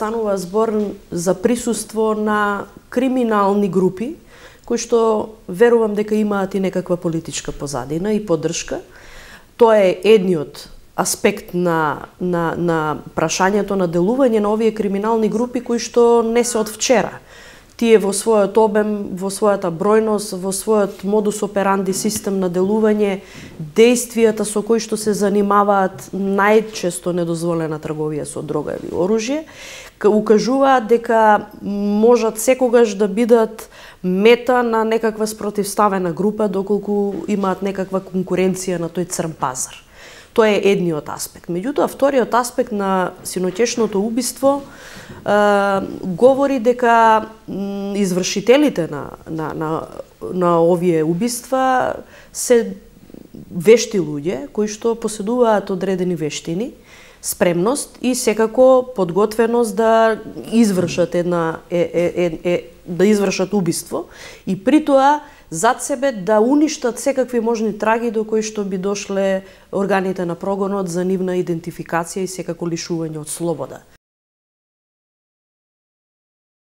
станува збор за присуство на криминални групи, кои што верувам дека имаат и некаква политичка позадина и поддршка. Тоа е едниот аспект на прашањето на делување на овие криминални групи кои што не се од вчера. Тие во својот обем, во својата бројност, во својот модус операнди систем на делување, действијата со кои што се занимаваат најчесто недозволена трговија со дрога или оружје, укажуваат дека можат секогаш да бидат мета на некаква спротивставена група доколку имаат некаква конкуренција на тој црн пазар. Тоа е едниот аспект. Меѓутоа, вториот аспект на синоќешното убиство говори дека извршителите на овие убиства се вешти луѓе кои што поседуваат одредени вештини, спремност и секако подготвеност да извршат да извршат убиство и при тоа зад себе да уништат секакви можни траги до кои што би дошле органите на прогонот за нивна идентификација и секако лишување од слобода.